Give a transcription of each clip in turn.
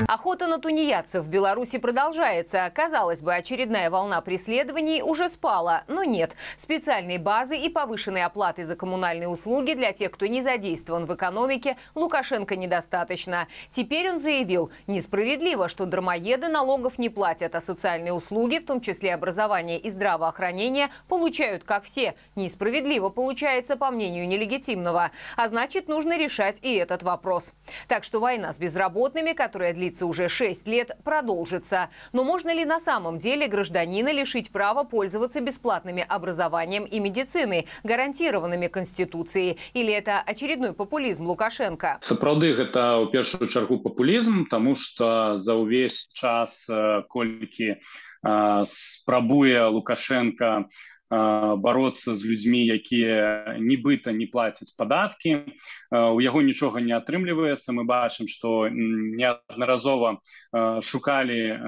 Охота на тунеядцев в Беларуси продолжается. Казалось бы, очередная волна преследований уже спала, но нет. Специальной базы и повышенной оплаты за коммунальные услуги для тех, кто не задействован в экономике, Лукашенко недостаточно. Теперь он заявил, несправедливо, что дармоеды налогов не платят, а социальные услуги, в том числе образование и здравоохранение, получают как все. Несправедливо получается, по мнению нелегитимного. А значит, нужно решать и этот вопрос. Так что война с безработными, которая длится уже 6 лет, продолжится. Но можно ли на самом деле гражданина лишить права пользоваться бесплатными образованием и медициной, гарантированными Конституцией? Или это очередной популизм Лукашенко? Сапраўды, гэта ў першую чаргу популізм, тому што за ўвесь час, колькі спрабуе Лукашенко бороться з людзьмі, якія нібыта не плацяць падаткі. У яго нічога не атрымліваецца. Мы бачым, што неаднаразова шукалі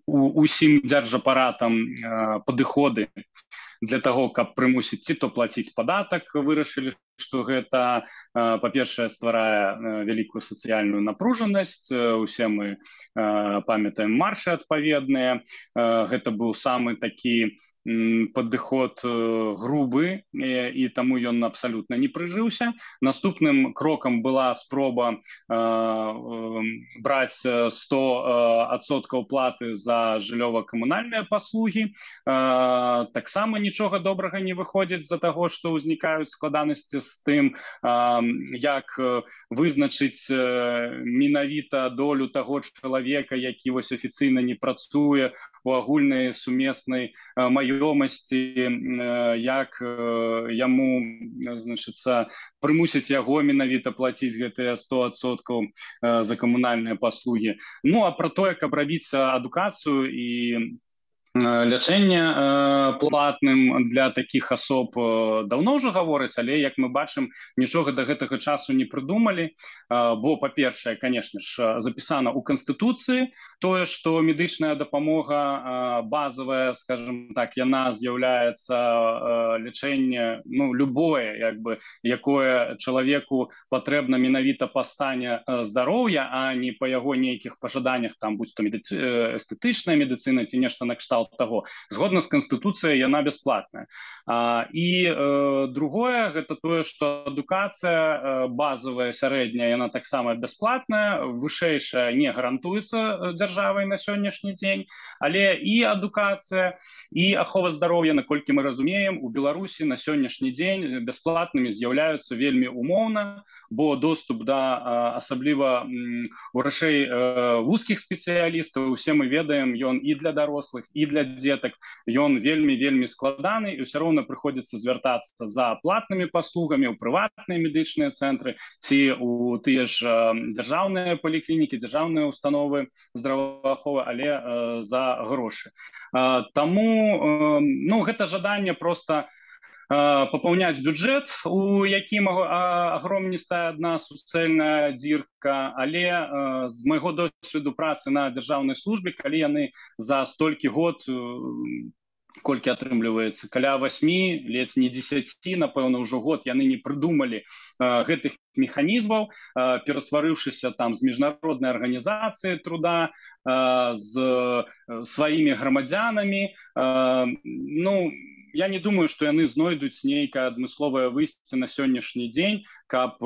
усім дзяржапаратам падыходы для того, каб прымусіць ці то плаціць падатак, вырашылі, што гэта, па-першае, стварае вялікую сацыяльную напружанасць. Усе мы памятаем маршы адпаведныя. Гэта быў самы такі падыход грубы, і таму ён абсалютна не прыжыўся. Наступным крокам была спроба браць 100% платы за жыллёва-камунальныя паслугі. Таксама нічога добрага не выходзіць з-за таго, што ўзнікаюць складанасці з тым, як вызначыць менавіта долю таго чалавека, які вось афіцыйна не працуе у агульнай сумеснай маёмасці, як яму, значыцца, прымусіць яго менавіта плаціць гэтыя 100% за камунальныя паслугі. Ну, а пра тое, каб рабіць адукацыю і лячэнне платным для такіх асоб даўно ўжо гавораць, але, як мы бачым, нічога да гэтага часу не прыдумалі, бо, па-першае, конечно ж, запісана ў Канстытуцыі тое, што медычная дапамога базавая, скажем так, яна з'яўляецца лячэнне, ну, любое, як бы, якое чалавеку патрэбна менавіта па стане здароўя, а не па яго нейкіх пажаданнях, там, будь то эстэтычная медыцына ці нешта накшталт того. Згодна з Канстытуцыяй яна бясплатная. І другое, гэта тое, што адукацыя базавая, сярэдняя, яна таксама бясплатная, вышэйшая не гарантуецца дзяржавай на сённяшні дзень, але і адукацыя, і ахова здароўя, наколькі мы разумеем, у Беларусі на сённяшні дзень бясплатнымі з'яўляюцца вельмі умоўна, бо доступ да асабліва вырашэй вузкіх спецыялістаў, усе мы ведаем, ён і для дарослых, і для дзетак, ён вельмі складаны, і ўсё роўна прыходзіцца звяртацца за платнымі паслугамі ў прыватныя медычныя цэнтры ці ў тыя ж дзяржаўныя паліклінікі, дзяржаўныя установы здравааховы, але за грошы. Таму, ну, гэта жаданне проста папаўняць бюджэт, у якім агромністая адна суцэльная дзірка, але з майго досведу працы на дзяржаўнай службе, калі яны за столькі год, колькі атрымліваецца, каля 8, ледзь не 10, напэўна, ўжо год, яны не прыдумалі гэтых механізмаў, перасварыўшыся там з міжнароднай арганізацыяй труда, з сваімі грамадзянамі. Ну, я не думаю, што яны знойдуць нейкае адмысловае выйсце на сённяшні дзень, каб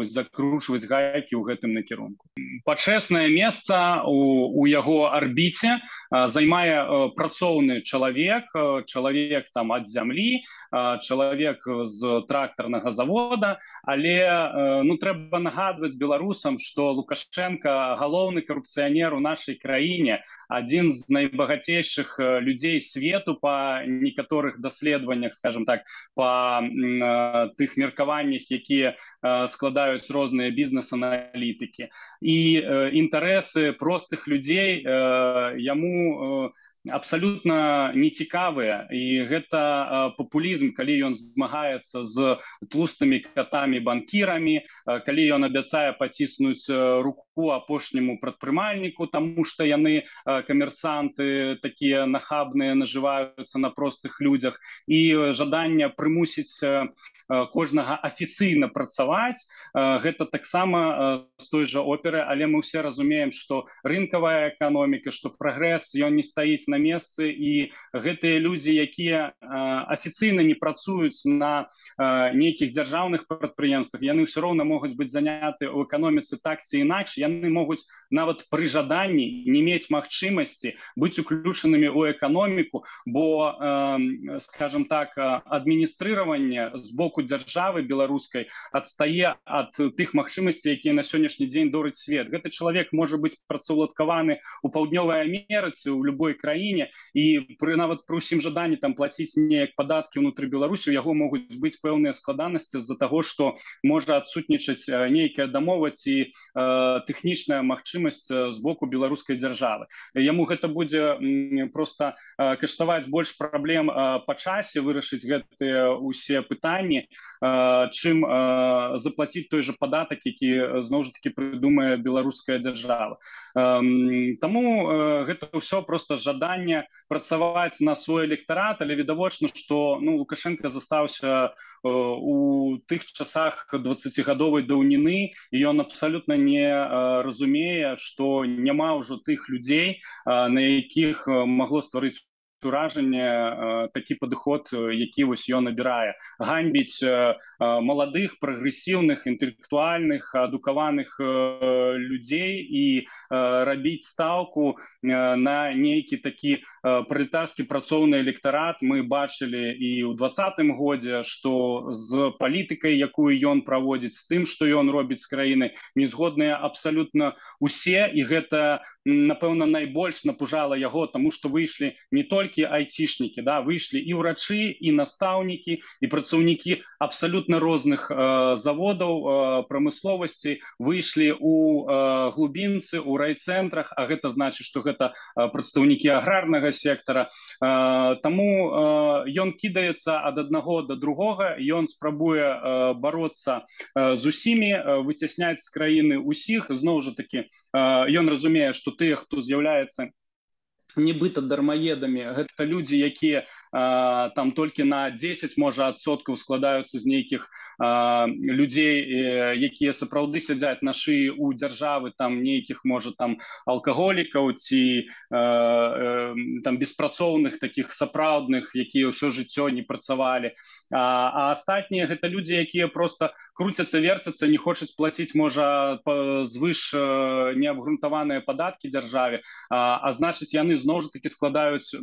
закручваць гайкі ў гэтым накірунку. Пачэснае месца у яго арбіце займае працоўны чалавек там ад зямлі, чалавек з трактарнага завода, але ну, трэба нагадваць беларусам, што Лукашенко галоўны карупцыянер у нашай краіне, адзін з найбагацейшых людзей свету па некаторых даследаваннях, скажем так, па тых меркаваннях, якія складаюць розныя бізнес-аналітыкі. І інтарэсы простых людзей яму абсолютно нецікавыя, і гэта папулізм, калі ён змагаецца з тлустымі катамі банкірамі, калі ён абяцае паціснуць руку апошняму прадпрымальніку, таму што яны камерсанты такія нахабныя, нажываюцца на простых людзях, і жаданне прымусіць кожнага афіцыйна працаваць, гэта таксама з той жа оперы, але мы ўсе разумеем, што рынкавая эканоміка, што прагрэс, ён не стаіць на месцы, і гэтыя людзі, якія афіцыйна не працуюць на нейкіх дзяржаўных прадпрыемствах, яны ўсё роўна могуць быць заняты ў эканоміцы так ці інакш, яны могуць нават пры жаданні не мець магчымасці быць уключанымі ў эканоміку, бо, скажем так, адміністрыраванне з боку дзяржавы беларускай адстае ад тых магчымасцей, якія на сённяшні дзень дорыць свет. Гэты чалавек можа быць працаўладкаваны ў паўднёвай Амерыцы, у любой краіне, і нават пры ўсім жаданні там плаціць неяк падаткі ўнутры Беларусі, у яго могуць быць пэўныя складанасці з-за таго, што можа адсутнічаць нейкая дамова ці тэхнічная магчымасць з боку беларускай дзяржавы. Яму гэта будзе проста каштаваць больш праблем па часе вырашыць гэтыя ўсе пытанні, чым заплаціць той жа падатак, які зноў жа такі прыдумае беларуская дзяржава. Таму гэта ўсё проста жаданне працаваць на свой электарат, але відавочна, што Лукашенко застаўся у тых часах 20гадовай даўніны, і ён абсалютна не разумее, што няма ўжо тых людзей, на якіх магло стварыць уражанне такі падыход, які вось ён абірае. Ганьбіць маладых, прагрэсіўных, інтэлектуальных, адукаваных людзей і рабіць стаўку на нейкі такі пралетарскі працоўны электарат. Мы бачылі і ў 2020 годзе, што з палітыкай, якую ён праводзіць, з тым, што ён робіць з краіны, не згодныя абсалютна усе, і гэта, напэўна, найбольш напужала яго, таму што выйшлі не толькі айцішнікі, выйшлі і ўрачы, і настаўнікі, і працаўнікі абсалютна розных заводаў, прамысловасці, выйшлі у глубінцы, у райцэнтрах, а гэта значыць, што гэта прадстаўнікі аграрнага сектара. Таму ён кідаецца ад аднаго да другога, ён спрабуе бароцца з усімі, выцясняць з краіны усіх. Зноў жа такі, ён разумее, што тыя, хто з'яўляецца нібыта дармаедамі, гэта людзі, якія там толькі на 10, можа, адсоткаў складаюцца з нейкіх людзей, якія сапраўды сядзяць на шыі у дзяржавы, там нейкіх, можа, там алкаголікаў ці там беспрацоўных, такіх сапраўдных, якія ўсё жыццё не працавалі. А астатнія гэта людзі, якія проста круцяцца, верцяцца, не хочуць плаціць, можа, звыш неабгрунтаваныя падаткі дзяржаве, а значыць, яны зноў жа такі складаюць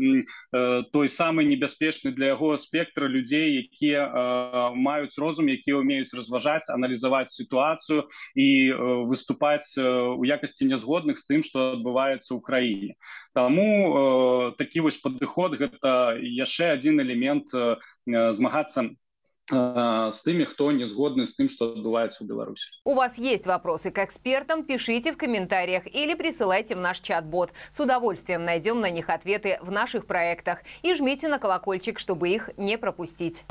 той самы небяспечны для яго спектр людзей, якія маюць розум, якія ўмеюць разважаць, аналізаваць сітуацыю і выступаць у якасці нязгодных з тым, што адбываецца ў краіне. Таму такі вось падыход — гэта яшчэ адзін элемент змагацца с теми, кто не сгодны с тем, что отбывается в Беларуси. У вас есть вопросы к экспертам? Пишите в комментариях или присылайте в наш чат-бот. С удовольствием найдем на них ответы в наших проектах. И жмите на колокольчик, чтобы их не пропустить.